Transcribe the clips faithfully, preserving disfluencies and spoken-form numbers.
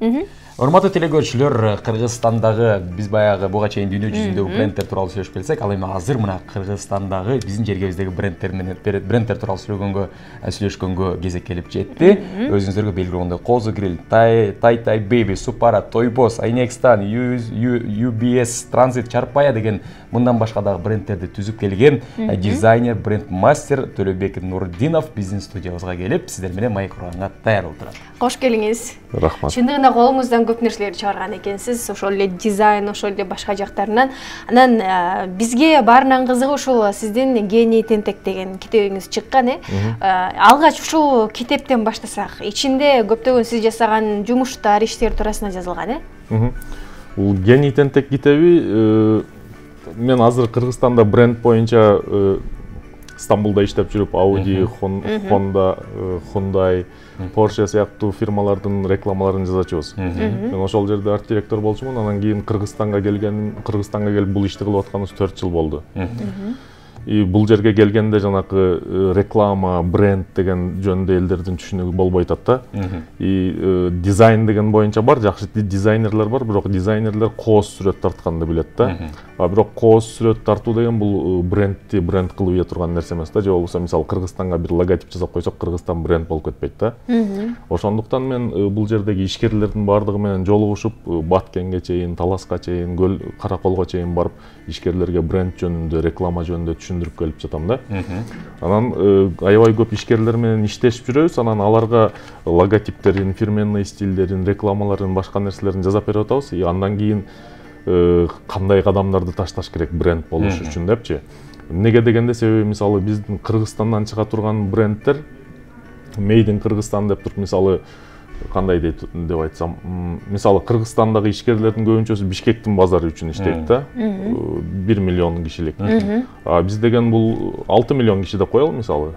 Урматтуу телегөрүүчүлөр, Кыргызстандагы биз баягы буга чейин дүйнө жүзүндөгү брендтер тууралуу сүйлөшүп келсек, ал эми азыр мына Кыргызстандагы биздин жергебиздеги брендтер менен брендтер тууралуу сүйлөгөнгө сүйлөшкөнгө кезек келип жетти. Өзүңүздөргө белгилүү болгондой Козу Grill, Тай Тай Baby, Supara, Toybos, Айнекстан, ю би эс, Transit, Чарпая деген мындан башка дагы брендтерди түзүп келген дизайнер, бренд мастер Төлөбек Нурдинов биздин студиябызга келип, сиздер менен маек курганга даяр болуп турат. Кош келиңиз. Рахмат. Чындыгында колуңуздан көп нерселерди чыгарган экенсиз, ошол эле дизайн, ошол эле башка жактарынан. Анан бизге баарынан кызыгы ушул сиздин Гений тентек деген китебиңиз чыккан, э? Алгач ушул китептен баштасак, ичинде көптөгөн сиз жасаган жумуштар, иштер туурасында жазылган, э? Бул Гений тентек китеби мен азыр Кыргызстанда бренд боюнча Стамбулда иштеп жүрүп, Audi, Honda, Hyundai, Porsche сыяктуу фирмалардын рекламаларын жазачубуз. Мен ошол жерде арт директор болчумун, анан кийин Кыргызстанга келгеним, Кыргызстанга келип бул ишти кылып атканыбыз төрт жыл болду. И бул жерге келгенде жанакы реклама, бренд деген жөнүндө элдердин түшүнүгү болбой атат да. И дизайн деген боюнча бар, жакшы дизайнерлер бар, бирок дизайнерлер кооз сүрөт тартканды билет да. А бирок кооз сүрөт тартуу деген бул брендти бренд кылып ийе турган нерсе эмес да. Же болбосо мисалы Кыргызстанга бир логотип жасап койсок, Кыргызстан бренд болуп кетпейт да. Ошондуктан мен бул жердеги ишкерлердин баардыгы менен жолугушуп, Баткенге чейин, Таласка чейин, Көл Караколго чейин барып, ишкерлерге бренд жөнүндө, реклама жөнүндө түшүндүрүп келип жатам да. Анан аябай көп ишкерлер менен иштешип жүрөбүз, анан аларга логотиптерин, фирменный стилдерин, рекламаларын, башка нерселерин жасап берип атабыз. И андан кийин кандай кадамдарды ташташ керек бренд болуш үчүн депчи. Эмнеге дегенде, себеби мисалы биздин Кыргызстандан чыга турган брендтер Made in Кыргызстан деп туруп, мисалы кандай дейт деп айтсам, мисалы Кыргызстандагы ишкерлердин көбүнчөсү Бишкектин базары үчүн иштейт да. бир миллион кишилик. А биз деген бул алты миллион киши деп коелу мисалы.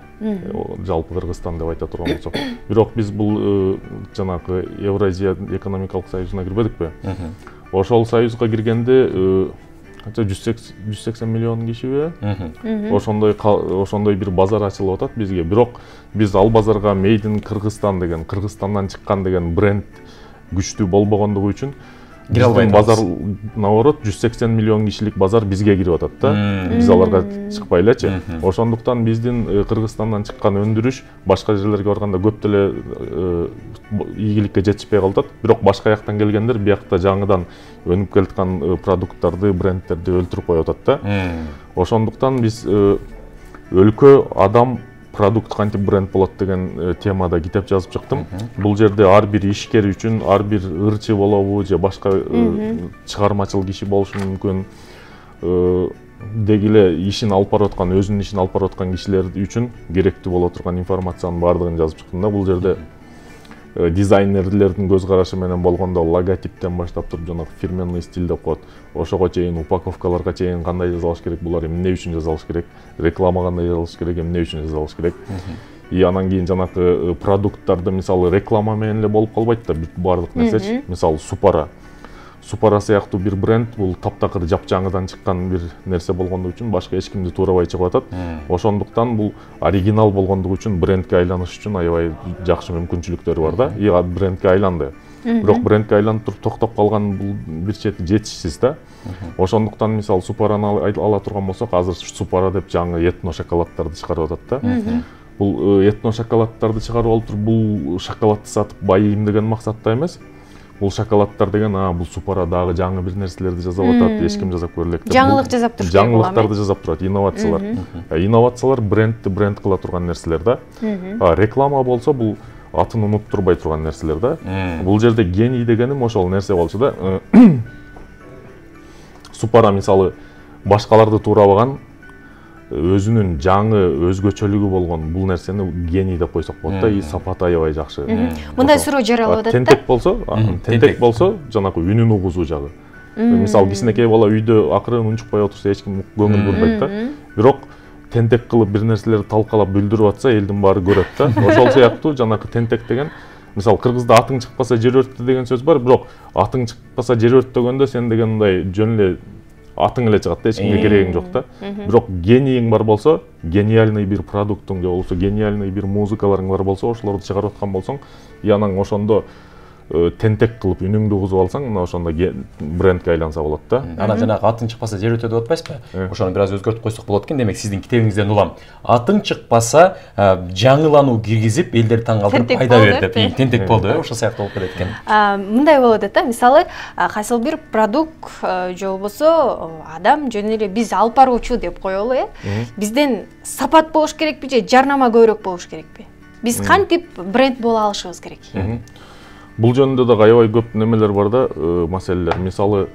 Жалпы Кыргызстан деп айта турган болсок. Бирок биз бул жанагы Евразия экономикалык союзуна кирбедикпи? Ошол союзга киргенде канча жүз сексен миллион кишиби? Ошондой ошондой бир базар ачылып атат бизге. Бирок биз ал базарга Made in Кыргызстан деген, Кыргызстандан чыккан деген бренд күчтүү болбогондугу үчүн биздин базар, наоборот, жүз сексен миллион кишилик базар бизге кирип атат да. Биз аларга чыкпай элечи. Ошондуктан биздин Кыргызстандан чыккан өндүрүш башка жерлерге барганда көп деле ийгиликке жетишпей калып атат. Бирок башка жактан келгендер биякта жаңыдан өнүп келаткан продукттарды, брендтерди өлтүрүп коюп атат да. Ошондуктан биз өлкө, адам, продукт кантип бренд болот деген темада китеп жазып чыктым. Бул жерде ар бир ишкер үчүн, ар бир ырчы болобу же башка чыгармачыл киши болушу мүмкүн, деги эле ишин алып барып аткан, өзүнүн ишин алып барып аткан кишилер үчүн керектүү боло турган информациянын баардыгын жазып чыктым да. Бул жерде дизайнерлердин көз карашы менен болгондо логотиптен баштап туруп, жанагы фирменный стиль деп коет, ошого чейин, упаковкаларга чейин кандай жасалыш керек, булар эмне үчүн жасалыш керек, реклама кандай жасалыш керек, эмне үчүн жасалыш керек. И анан кийин жанагы продукттарды мисалы реклама менен эле болуп калбайт да баардык нерсечи. Мисалы Supara. Supara сыяктуу бир бренд бул таптакыр жапжаңыдан чыккан бир нерсе болгондугу үчүн башка эч кимди туурабай чыгып атат. Ошондуктан бул оригинал болгондугу үчүн брендке айланыш үчүн аябай жакшы мүмкүнчүлүктөрү бар да. И брендке айланды. Бирок брендке айланып туруп токтоп калган бул бир чети жетишсиз да. Ошондуктан мисалы Suparаны ала турган болсок, азыр Supara деп жаңы этно шоколаддарды чыгарып атат да. Бул этно шоколаддарды чыгарып алып туруп, бул шоколадты сатып байыйм деген максатта эмес. Бул шоколаддар деген, а бул Supara дагы жаңы бир нерселерди жасап атат, эч ким жасап көрөлек деп. Жаңылык жасап турат. Жаңылыктарды жасап турат, инновациялар. Инновациялар брендти бренд кыла турган нерселер да. А реклама болсо бул атын унуттурбай турган нерселер да. Бул жерде гений дегеним ошол нерсе болчу да. Supara мисалы башкаларды туурабаган, өзүнүн жаңы өзгөчөлүгү болгон бул нерсени гений деп койсок болот да. И сапаты аябай жакшы. Мындай суроо жаралып атат да. Тентек болсо, тентек болсо жанагы үнүн угузуу жагы. Мисалы кичинекей бала үйдө акырын унчукпай отурса эч ким көңүл бурбайт да. Бирок тентек кылып бир нерселерди талкалап бүлдүрүп атса элдин баары көрөт да. Ошол сыяктуу жанагы тентек деген, мисалы кыргызда атың чыкпаса жер өрттү деген сөз бар, бирок атың чыкпаса жер өрттөгөндө сен деген мындай жөн эле атың эле чыгат да, эч кимге керегиң жок да. Бирок генийиң бар болсо, гениальный бир продуктуң же болбосо гениальный бир музыкаларың бар болсо, ошолорду чыгарып аткан болсоң, и анан ошондо тентек кылып үнүңдү угузуп алсаң, мына ошондо брендке айланса болот да. Анан жанагы атың чыкпаса жер өтө деп атпайсызбы? Ошону бир аз өзгөртүп койсок болот экен. Демек сиздин китебиңизден улам атың чыкпаса жаңылануу киргизип элдерди таң калтырып пайда бер деп, тентек болду, ошол сыяктуу болуп кетет экен. Мындай болот да, мисалы кайсыл бир продукт же болбосо адам жөн эле биз алып баруучу деп коелу, э? Бизден сапат болуш керекпи же жарнама көбүрөөк болуш керекпи? Биз кантип бренд боло алышыбыз керек? Бул жөнүндө да аябай көп немелер бар да, маселелер. Мисалы,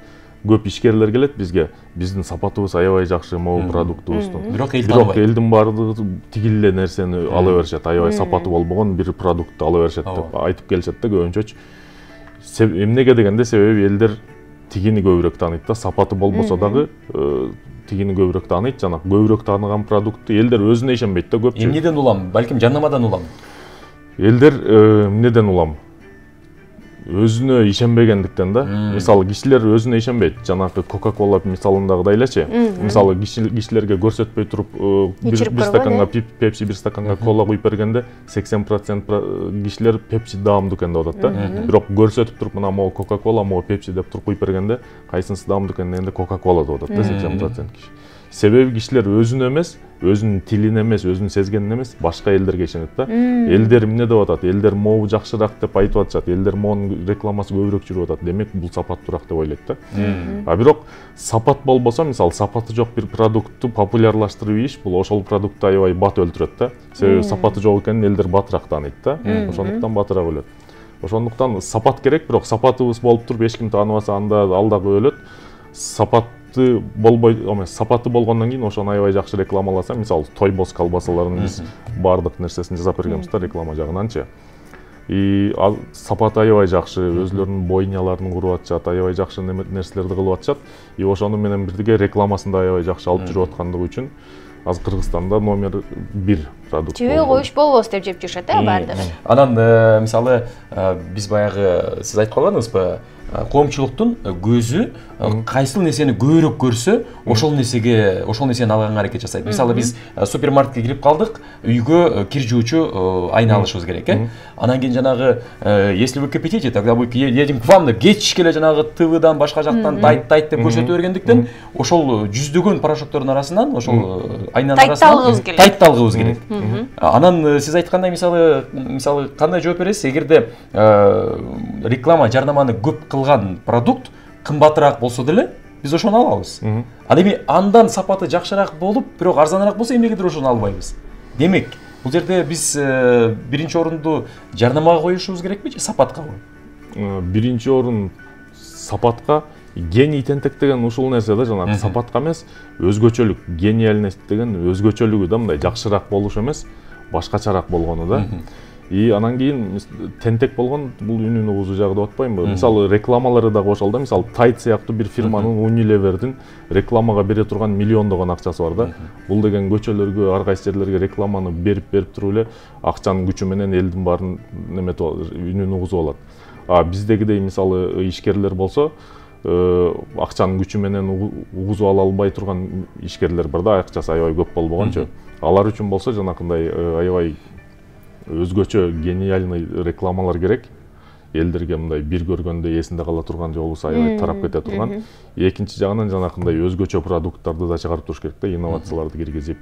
көп ишкерлер келет бизге, биздин сапатыбыз аябай жакшы, могу продуктубуздун. Бирок Бирок элдин баардыгы тигил эле нерсени ала беришет, аябай сапаты болбогон бир продуктты ала беришет деп айтып келишет да көбүнчөчү. Эмнеге дегенде себеби элдер тигини көбүрөөк тааныйт да, сапаты болбосо дагы тигини көбүрөөк тааныйт, жана көбүрөөк тааныган продуктты элдер өзүнө ишенбейт да көпчүлүк. Эмнеден улам? Балким жарнамадан улам. Элдер эмнеден улам? Өзүнө ишенбегендиктен да. Мисалы кишилер өзүнө ишенбейт. Жанагы Coca-Cola мисалындагыдай элечи. Мисалы кишилерге көрсөтпөй туруп бир стаканга Pepsi, бир стаканга кола куюп бергенде сексен процент кишилер Pepsi даамдуу экен деп атат да. Бирок көрсөтүп туруп мына могу Coca-Cola, могу Pepsi деп туруп куюп бергенде кайсынысы даамдуу экен дегенде Coca-Cola деп атат да сексен процент киши. Себеби кишилер өзүнө эмес, өзүнүн тилине эмес, өзүнүн сезгенине эмес, башка элдерге ишенет да. Элдер эмне деп атат? Элдер могу жакшыраак деп айтып атышат. Элдер могунун рекламасы көбүрөөк жүрүп атат. Демек бул сапаттуураак деп ойлойт да. А бирок сапат болбосо, мисалы, сапаты жок бир продуктты популярлаштырып ийиш, бул ошол продуктты аябай бат өлтүрөт да. Себеби сапаты жок экенин элдер батыраак тааныйт да. Ошондуктан батыраак өлөт. Ошондуктан сапат керек, бирок сапатыбыз болуп туруп эч ким тааныбаса анда ал дагы өлөт. Сапат болбой, эмес, сапаты болгондон кийин ошону аябай жакшы рекламаласа, мисалы, Тойбос колбасаларын биз баардык нерсесин жасап бергенбиз да реклама жагынанчы. И сапаты аябай жакшы, өзлөрүнүн бойняларын куруп атышат, аябай жакшы нерселерди кылып атышат. И ошону менен бирге рекламасын да аябай жакшы алып жүрүп аткандыгы үчүн азыр Кыргызстанда номер бир продукт. Жебе коюш болбос деп жеп жүрүшөт, э, баардыгы. Анан мисалы биз баягы сиз айтып калганыңызбы, коомчулуктун көзү кайсыл нерсени көбүрөөк көрсө, ошол нерсеге, ошол нерсени алганга аракет жасайт. Мисалы биз супермаркетке кирип калдык, үйгө кир жуучу айна алышыбыз керек, э? Анан кийин жанагы, если вы кипятите, тогда мы едем к вам деп кечке эле жанагы ТВдан башка жактан тайт тайт деп көрсөтө бергендиктен, ошол жүздөгөн порошоктордун арасынан, ошол айнанын арасынан тайт алгыбыз келет. Анан сиз айткандай, мисалы, мисалы кандай жооп бересиз? Эгерде реклама, жарнаманы көп кылган продукт кымбатыраак болсо деле, биз ошону алабыз. Ал эми андан сапаты жакшыраак болуп, бирок арзаныраак болсо эмнегедир ошону албайбыз. Демек, бул жерде биз биринчи орунду жарнамага коюшубуз керекпи же сапаткабы? Биринчи орун сапатка. Гений тентек деген ушул нерсе да, жанагы сапатка эмес, өзгөчөлүк, гениальность деген өзгөчөлүгү да, мындай жакшыраак болуш эмес, башкачараак болгону да. И анан кийин тентек болгон бул үнүн угузуу жагы деп атпаймынбы? Мисалы, рекламалары дагы ошол да. Мисалы, Tide сыяктуу бир фирманын, Unilever'дин рекламага бере турган миллиондогон акчасы бар да. Бул деген көчөлөргө, ар кайсы жерлерге рекламаны берип-берип туруп эле акчанын күчү менен элдин баарын неметип үнүн угузуп алат. А биздегидей мисалы ишкерлер болсо, акчанын күчү менен угузуп ала албай турган ишкерлер бар да, акчасы аябай көп болбогончу. Алар үчүн болсо жанакындай аябай өзгөчө гениальный рекламалар керек. Элдерге мындай бир көргөндө эсинде кала турган, же болбосо аябай тарап кете турган. Экинчи жагынан жанакындай өзгөчө продукттарды да чыгарып туруш керек да, инновацияларды киргизип.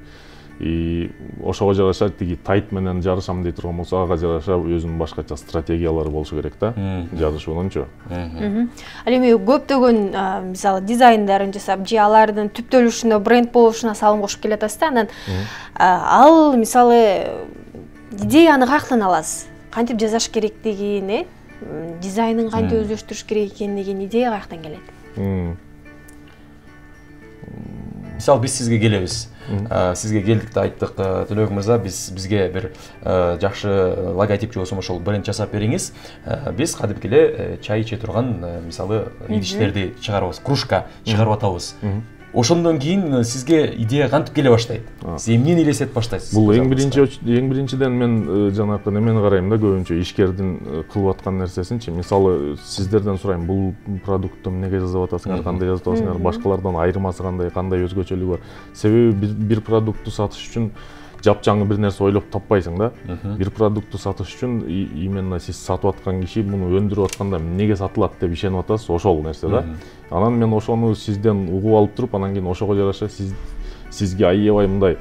И ошого жараша тиги Tide менен жарышам дей турган болсо, ага жараша өзүнүн башкача стратегиялары болушу керек да, жарышуунунчу. Ал эми көптөгөн мисалы дизайндарын жасап, же алардын түптөлүшүнө, бренд болушуна салым кошуп келатасыз да, анан ал мисалы идеяны каяктан аласыз? Кантип жасаш керектигин, э? Дизайнын кантип өздөштүрүш керек экендигин идея каяктан келет? Мисалы биз сизге келебиз. Сизге келдик да айттык, Төлөбек мырза, биз бизге бир жакшы логотип же болсо ошол бренд жасап бериңиз. Биз кадимки эле чай иче турган, мисалы, идиштерди чыгарабыз, кружка чыгарып атабыз. Ошондон кийин сизге идея кантип келе баштайт? Сиз эмнени элестетип баштайсыз? Бул эң биринчи эң биринчиден мен жанагы немени карайм да, көбүнчө ишкердин кылып аткан нерсесинчи. Мисалы, сиздерден сурайм, бул продуктту эмнеге жасап атасыңар, кандай жасап атасыңар, башкалардан айырмасы кандай, кандай өзгөчөлүгү бар. Себеби бир продуктту сатыш үчүн жапжаңы бир нерсе ойлоп таппайсың да. Бир продуктты сатыш үчүн именно сиз сатып аткан киши муну өндүрүп атканда эмнеге сатылат деп ишенип атасыз, ошол нерсе да. Анан мен ошону сизден угуп алып туруп, анан кийин ошого жараша сиз сизге аябай мындай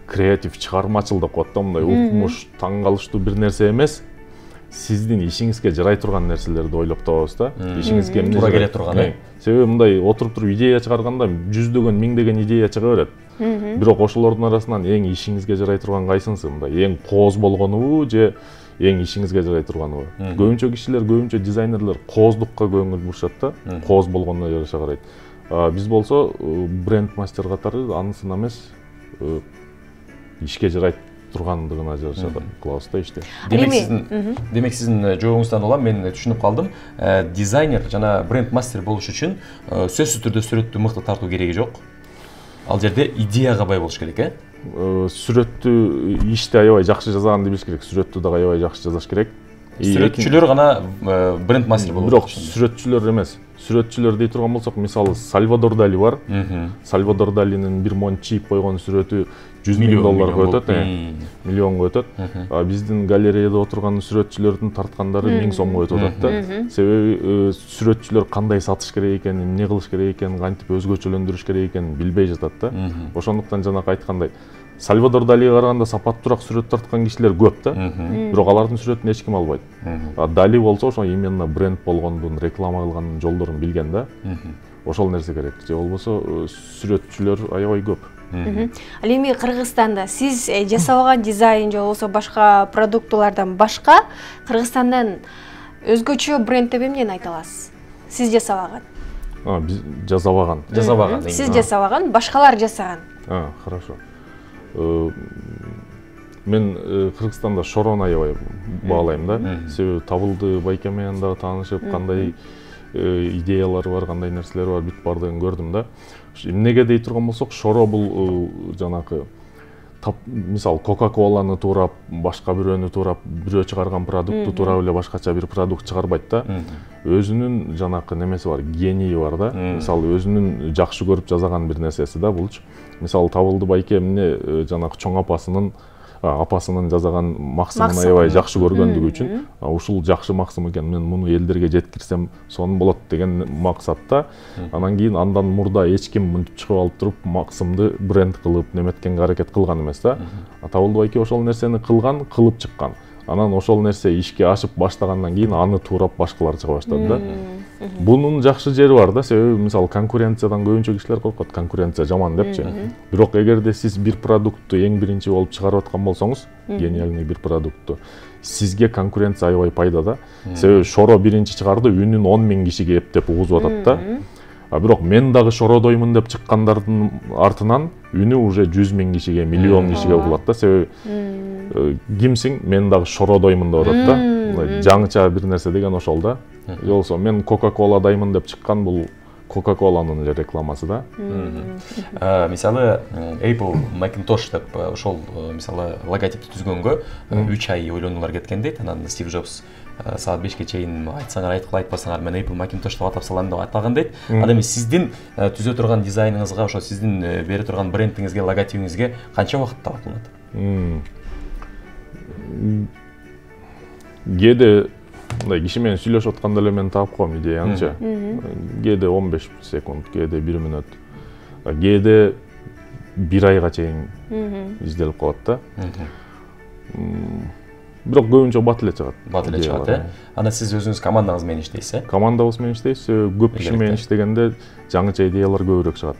креатив, чыгармачыл деп коет да, мындай укмуш, таң калыштуу бир нерсе эмес, сиздин ишиңизге жарай турган нерселерди ойлоп табабыз да. Ишиңизге эмне туура келе турган, э? Себеби мындай отуруп туруп идея чыгарганда жүздөгөн, миңдеген идея чыга берет. Бирок ошолордун арасынан эң ишиңизге жарай турган кайсынысы? Мындай эң кооз болгонубу же эң ишиңизге жарай турганыбы? Көбүнчө кишилер, көбүнчө дизайнерлер кооздукка көңүл бурушат да, кооз болгонуна жараша карайт. Биз болсо бренд мастер катары анысына эмес, ишке жарайт тургандыгына жараша кылабыз да ишти. Демек сиздин демек сиздин жообуңуздан улам мен түшүнүп калдым. Дизайнер жана бренд мастер болуш үчүн сөзсүз түрдө сүрөттү мыкты тартуу кереги жок. Ал жерде идеяга бай болуш керек, э? Сүрөттү ишти аябай жакшы жазаганды билиш керек, сүрөттү дагы аябай жакшы жазаш керек. Сүрөтчүлөр гана бренд мастер болот. Бирок сүрөтчүлөр эмес. Сүрөтчүлөр дей турган болсок, мисалы Сальвадор Дали бар. Сальвадор Далинин бир монт чийип койгон сүрөтү жүз миң долларга өтөт, миллионго өтөт. А биздин галереяда отурган сүрөтчүлөрдүн тарткандары миң сомго өтүп атат да. Себеби сүрөтчүлөр кандай сатыш керек экенин, эмне кылыш керек экенин, кантип өзгөчөлөндүрүш керек экенин билбей жатат да. Ошондуктан жанакы айткандай Сальвадор Далиге караганда сапаттуураак сүрөт тарткан кишилер көп да. Бирок алардын сүрөтүн эч ким албайт. А Дали болсо ошо именно бренд болгондун, реклама кылган жолдорун билген да. Ошол нерсе керек. Же болбосо сүрөтчүлөр аябай көп. Ал эми Кыргызстанда сиз жасабаган дизайн же болбосо башка продуктулардан башка Кыргызстандан өзгөчө бренд деп эмнени айта аласыз? Сиз жасабаган. А, биз жасабаган. Жасабаган. Сиз жасабаган, башкалар жасаган. А, хорошо. Мен Кыргызстанда Шорону аябай баалайм да. Себеби Табылды байке менен дагы таанышып, кандай идеялары бар, кандай нерселери бар, бүт бардыгын көрдүм да. Эмнеге дей турган болсок, Шоро бул жанакы мисалы Кока-Коланы туурап, башка бирөөнү туурап, бирөө чыгарган продукту туурап эле башкача бир продукт чыгарбайт да. Өзүнүн жанакы немеси бар, гении бар да. Мисалы өзүнүн жакшы көрүп жасаган бир нерсеси да булчу. Мисалы Табылды байке эмне жанакы чоң апасынын апасынын жасаган максымын аябай жакшы көргөндүгү үчүн, ушул жакшы максым экен, мен муну элдерге жеткирсем сонун болот деген максатта. Анан кийин андан мурда эч ким мынтип чыгып алып туруп максымды бренд кылып неметкенге аракет кылган эмес да. Табылды байке ошол нерсени кылган, кылып чыккан. Анан ошол нерсе ишке ашып баштагандан кийин аны туурап башкалар чыга баштады да. Бунун жакшы жери бар да, себеби мисалы конкуренциядан көбүнчө кишилер коркот, конкуренция жаман депчи. Бирок эгерде сиз бир продуктты эң биринчи болуп чыгарып аткан болсоңуз, гениальный бир продуктты, сизге конкуренция аябай пайда да. Себеби Шоро биринчи чыгарды, үнүн он миң кишиге эптеп угузуп атат да. А бирок мен дагы Шородоймун деп чыккандардын артынан үнү уже жүз миң кишиге, миллион кишиге угулат да. Себеби кимсиң, мен дагы Шородоймун деп атат да. Жаңыча бир нерсе деген ошол да. Жолсо мен Coca-Cola-даймын деп чыккан, бул Coca-Cola'нын эле рекламасы да. Мисалы Apple Macintosh деп ошол мисалы логотипти түзгөнгө үч ай ойлонуулар кеткен дейт. Анан Стив Джобс саат бешке чейин айтсаңар айткыла, айтпасаңар мен Apple Macintosh деп атап салам деп айтпаган дейт. Ал эми сиздин түзө турган дизайныңызга, ошо сиздин бере турган брендиңизге, логотипиңизге канча убакыт талап кылынат? Кээде мындай киши менен сүйлөшүп атканда эле мен таап коем идеяңчы. Кээде он беш секунд, кээде бир мүнөт. Кээде бир айга чейин изделип калат да. Бирок көбүнчө бат эле чыгат. Бат эле чыгат, э? Анда сиз өзүңүз командаңыз менен иштейсиз, э? Командабыз менен иштейбиз. Көп киши менен иштегенде жаңыча идеялар көбүрөөк чыгат.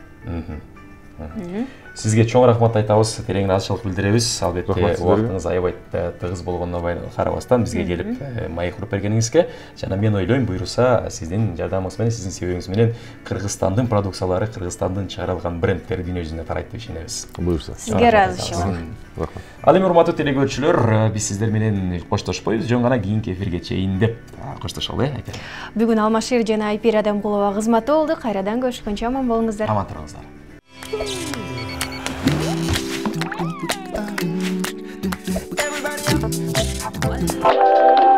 Сизге чоң рахмат айтабыз, терең ыраазычылык билдиребиз. Албетте убактыңыз аябай тыгыз болгонуна карабастан бизге келип маек уруп бергениңизге, жана мен ойлойм, буйруса сиздин жардамыңыз менен, сиздин себебиңиз менен Кыргызстандын продукциялары, Кыргызстандын чыгарылган брендтери дүйнө жүзүнө тарайт деп ишенебиз. Буйруса. Сизге ыраазычылык. Рахмат. Ал эми урматтуу телекөрүүчүлөр, биз сиздер менен коштошпойбуз, жөн гана кийинки эфирге чейин деп коштошолу, э, айтайын. Бүгүн Алмашер жана Айпир Адамкулова кызматы болду. Кайрадан көрүшкөнчө аман болуңуздар. Аман туруңуздар. Everybody